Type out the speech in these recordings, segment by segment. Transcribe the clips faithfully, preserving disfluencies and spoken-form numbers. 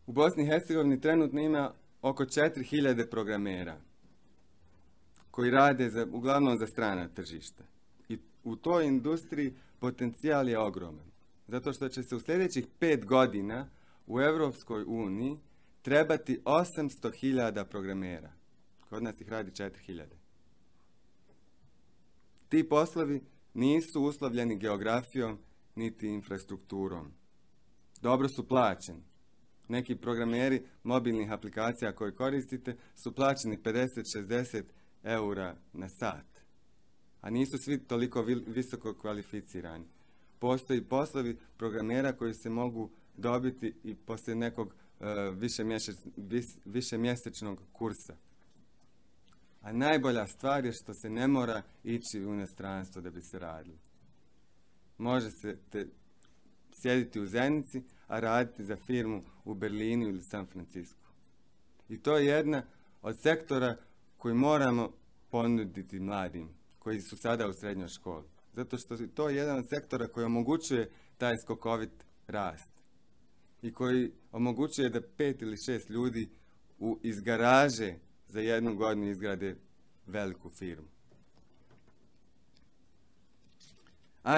U Bosni i Hercegovini trenutno ima oko četiri hiljade programera koji rade za, uglavnom za strana tržišta. I u toj industriji potencijal je ogroman. Zato što će se u sljedećih pet godina u Europskoj uniji trebati osamsto hiljada programera. Kod nas ih radi četiri hiljade. Ti poslovi nisu uslovljeni geografijom niti infrastrukturom. Dobro su plaćeni. Neki programeri mobilnih aplikacija koje koristite su plaćeni pedeset do šezdeset eura na sat. A nisu svi toliko visoko kvalificirani. Postoji poslovi programera koji se mogu dobiti i poslije nekog uh, višemjesečnog kursa. A najbolja stvar je što se ne mora ići u inostranstvo da bi se radilo. Može se te sjediti u Zenici, a raditi za firmu u Berlinu ili San Francisku. I to je jedna od sektora koji moramo ponuditi mladim, koji su sada u srednjoj školi. Zato što je to jedan od sektora koji omogućuje taj skokovit rast. I koji omogućuje da pet ili šest ljudi u, iz garaže za jednu godinu izgrade veliku firmu.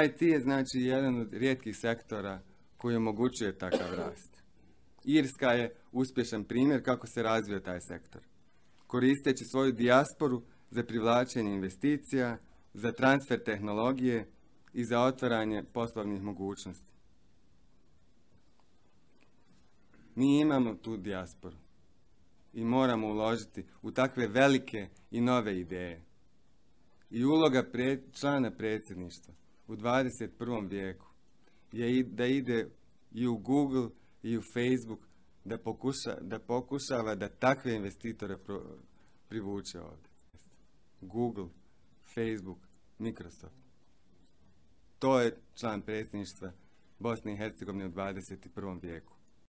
I T je znači jedan od rijetkih sektora koji omogućuje takav rast. Irska je uspješan primjer kako se razvio taj sektor. Koristeći svoju dijasporu za privlačenje investicija, za transfer tehnologije i za otvaranje poslovnih mogućnosti. Mi imamo tu dijasporu i moramo uložiti u takve velike i nove ideje. I uloga pred, člana predsjedništva u dvadeset prvom vijeku je da ide i u Google i u Facebook da, pokuša, da pokušava da takve investitore pro, privuče ovdje. Google, Facebook, Microsoft. To je član predsjedništva Bosne i Hercegovine u dvadeset prvom vijeku.